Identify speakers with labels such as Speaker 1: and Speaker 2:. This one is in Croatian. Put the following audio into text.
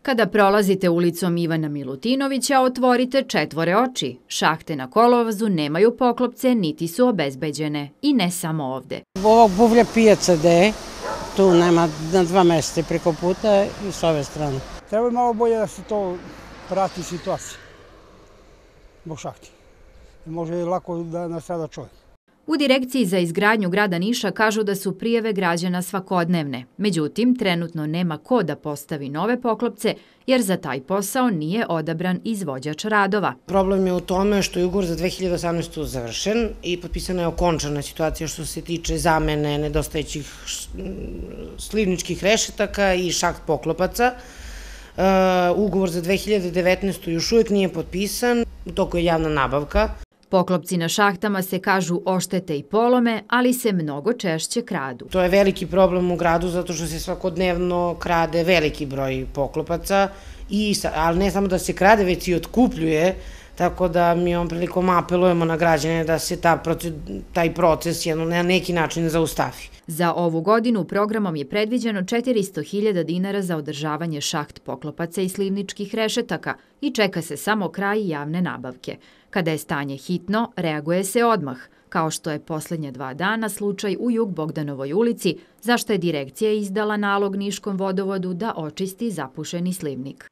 Speaker 1: Kada prolazite ulicom Ivana Milutinovića, otvorite četvore oči. Šahte na kolovozu nemaju poklopce, niti su obezbeđene. I ne samo ovde.
Speaker 2: Ovog buvlja pijaca gde tu nema na 2 mesta preko puta i s ove strane.
Speaker 3: Treba malo bolje da se to prati situacija zbog šahti. Može lako da nastrada čovjek.
Speaker 1: U Direkciji za izgradnju grada Niša kažu da su prijave građana svakodnevne. Međutim, trenutno nema ko da postavi nove poklopce, jer za taj posao nije odabran izvođač radova.
Speaker 4: Problem je u tome što je ugovor za 2018. završen i potpisana je okončana situacija što se tiče zamene nedostajećih slivničkih rešetaka i šaht poklopaca. Ugovor za 2019. još uvijek nije potpisan, u toku je javna nabavka.
Speaker 1: Poklopci na šahtama se kažu oštete i polome, ali se mnogo češće kradu.
Speaker 4: To je veliki problem u gradu zato što se svakodnevno krade veliki broj poklopaca, ali ne samo da se krade, već i otkupljuje, tako da mi ovom prilikom apelujemo na građane da se taj proces na neki način zaustavi.
Speaker 1: Za ovu godinu programom je predviđeno 400.000 dinara za održavanje šaht poklopaca i slivničkih rešetaka i čeka se samo kraj javne nabavke. Kada je stanje hitno, reaguje se odmah, kao što je poslednje 2 dana slučaj u Jug Bogdanovoj ulici, zašto je direkcija izdala nalog Niškom vodovodu da očisti zapušeni slivnik.